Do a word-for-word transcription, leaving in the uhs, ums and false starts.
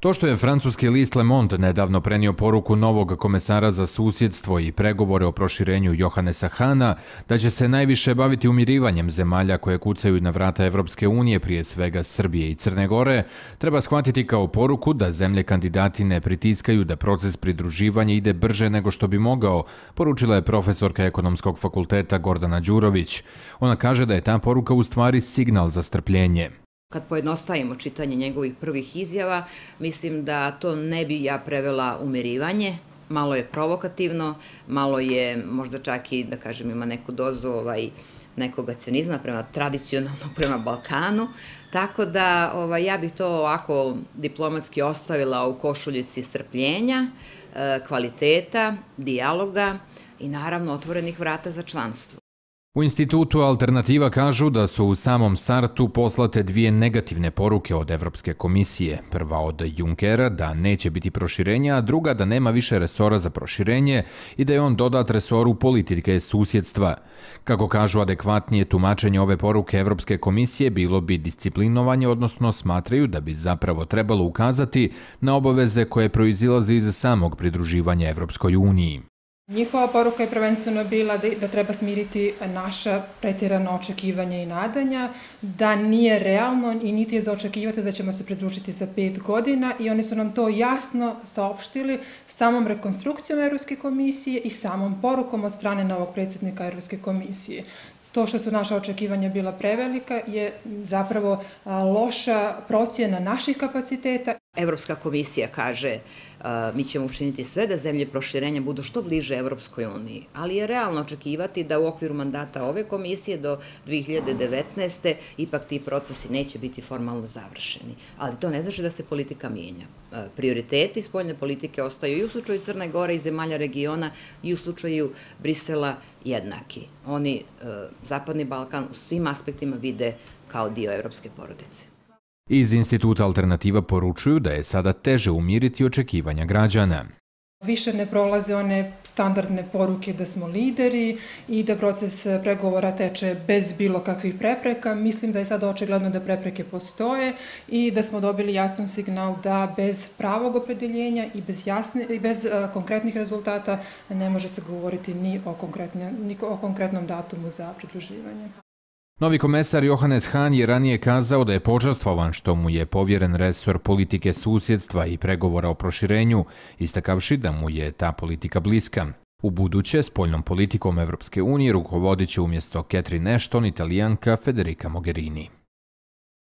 To što je francuski list Le Monde nedavno prenio poruku novog komesara za susjedstvo i pregovore o proširenju Johannesa Hahna da će se najviše baviti umirivanjem zemalja koje kucaju na vrata Evropske unije, prije svega Srbije i Crne Gore, treba shvatiti kao poruku da zemlje kandidati ne pritiskaju da proces pridruživanja ide brže nego što bi mogao, poručila je profesorka Ekonomskog fakulteta Gordana Đurović. Ona kaže da je ta poruka u stvari signal za strpljenje. Kad pojednostavimo čitanje njegovih prvih izjava, mislim da to ne bi ja prevela umirivanje. Malo je provokativno, malo je možda čak i, da kažem, ima neku dozu ovaj, nekoga cinizma prema tradicionalno prema Balkanu. Tako da ovaj, ja bih to ovako diplomatski ostavila u košuljici strpljenja, kvaliteta, dijaloga i naravno otvorenih vrata za članstvo. U institutu Alternativa kažu da su u samom startu poslate dvije negativne poruke od Evropske komisije. Prva od Junckera da neće biti proširenja, a druga da nema više resora za proširenje i da je on dodat resoru politike susjedstva. Kako kažu, adekvatnije tumačenje ove poruke Evropske komisije bilo bi disciplinovanje, odnosno smatraju da bi zapravo trebalo ukazati na obaveze koje proizilaze iz samog pridruživanja Evropskoj uniji. Njihova poruka je prvenstveno bila da treba smiriti naša pretjerana očekivanja i nadanja, da nije realno i niti je za očekivati da ćemo se pridružiti za pet godina i oni su nam to jasno saopštili samom rekonstrukcijom Evropske komisije i samom porukom od strane novog predsjednika Evropske komisije. To što su naša očekivanja bila prevelika je zapravo loša procjena naših kapaciteta. Evropska komisija kaže mi ćemo učiniti sve da zemlje proširenja budu što bliže Evropskoj uniji, ali je realno očekivati da u okviru mandata ove komisije do dve hiljade devetnaeste. ipak ti procesi neće biti formalno završeni. Ali to ne znači da se politika mijenja. Prioriteti spoljne politike ostaju i u slučaju Crne Gore i zemalja regiona i u slučaju Brisela jednaki. Oni Zapadni Balkan u svim aspektima vide kao dio evropske porodice. Iz instituta Alternativa poručuju da je sada teže umiriti očekivanja građana. Više ne prolaze one standardne poruke da smo lideri i da proces pregovora teče bez bilo kakvih prepreka. Mislim da je sada očigledno da prepreke postoje i da smo dobili jasan signal da bez pravog opredeljenja i bez, jasne, i bez uh, konkretnih rezultata ne može se govoriti ni o, ni o konkretnom datumu za pridruživanje. Novi komesar Johannes Hahn je ranije kazao da je počastvovan što mu je povjeren resor politike susjedstva i pregovora o proširenju, istakavši da mu je ta politika bliska. U buduće spoljnom politikom Evropske unije rukovodit će umjesto Catherine Ashton Italijanka Federica Mogherini.